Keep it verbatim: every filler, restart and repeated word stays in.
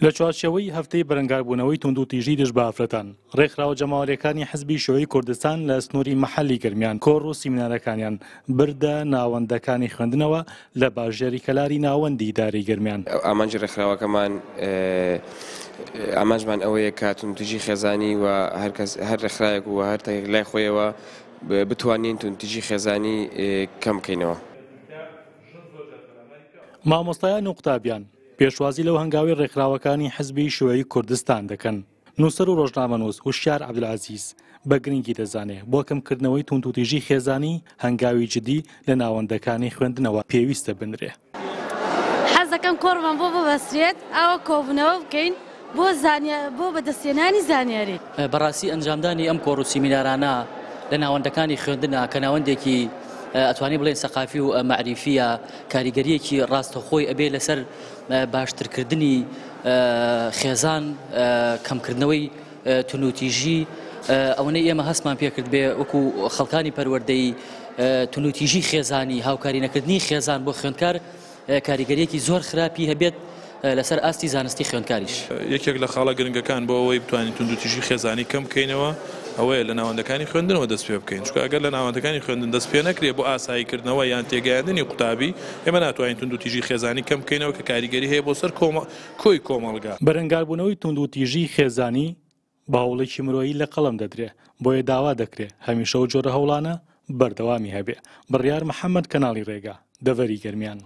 لە چوارچێوەی هەفتەی بەرەنگاربوونەوەی توندوتیژی دژ بە ئافرەتان، ڕێکخراوە جەماوەرییەکانی حزبی شیوعی کوردستان لە سنووری مەحەلی گەرمیان کۆڕ و سیمینارەکانیان بردە ناوەندەکانی خوێندنەوە لە باژێری کەلاری ناوەندی ئیدارەی گەرمیان. ئامانجی ڕێکخراوەکەمان ئامانجمان ئەوەیە کە توندوتیژی خێزانی و هەر کەس هەر ڕێکخراوێک و هەر تاکێک لای خۆیەوە بتوانین توندوتیژی خێزانی کەم بکەینەوە. مامۆستایان و قوتابیان پێشوازی لەو هەنگاوی ڕێکخراوەکانی حزبی شیوعی کوردستان دەکەن. نووسەر و ڕۆژنامەنووس هوشیار عەبدولعەزیز بە گرنگی دەزانێ بۆ کەمکردنەوەی توندوتیژی خێزانی هەنگاوی جدی لە ناوەندەکانی خوێندنەوە پێویستە بنرێ. حەز دەکەم کۆڕمان بۆ ببەسترێت، ئاوە کۆبوونەوە بکەین بۆ بۆ بەدەستهێنانی زانیاری. بەڕاستی ئەنجامدانی ئەم کۆڕ و سیمینارانە لە ناوەندەکانی خوێندنە کە ناوەندێکی ئەتوانی بڵێن سەقافی و مەعریفیە، کاریگەریەکی ڕاستەخۆی ئەبێ لەسەر باشترکردنی خێزان، کەمکردنەوەی توندوتیژی. ئەوەنەی ئێمە هەستمان پێکرد بێ وەکو خەڵکانی پەروەردەی توندوتیژی خێزانی، هاوکاری نەکردنی خێزان بۆ خوێندکار کاریگەریەکی زۆر خراپی هەبێت لەسەر ئاستی زانستی خوێندکاریش. یەکێک لە خاڵە گرنگەکان بۆ ئەوەی بتوانین توندوتیژی خێزانی کەم بکەینەوە ئەوەیە لە ناوەندەکانی خوێندنەوە دەست پێ بکەین، چونکە ئەگەر لە ناوەندەکانی خوێندن دەست پێ نەکرێ بۆ ئاساییکردنەوە یان تێگەیاندنی قوتابی، ئێمە ناتوانین توندوتیژی خێزانی کەم بکەینەوە کە کاریگەری هەیە بۆ سەر کۆی کۆمەڵگا. بەرەنگاربوونەوەی توندوتیژی خێزانی بە هەوڵێکی مرۆیی لە قەڵەم دەدرێ، بۆیە داوا دەکرێ هەمیشە و جۆرە هەوڵانە بەردەوامی هەبێ. بڕیار محەممەد، کەناڵی ڕێگا، دەڤەری گەرمیان.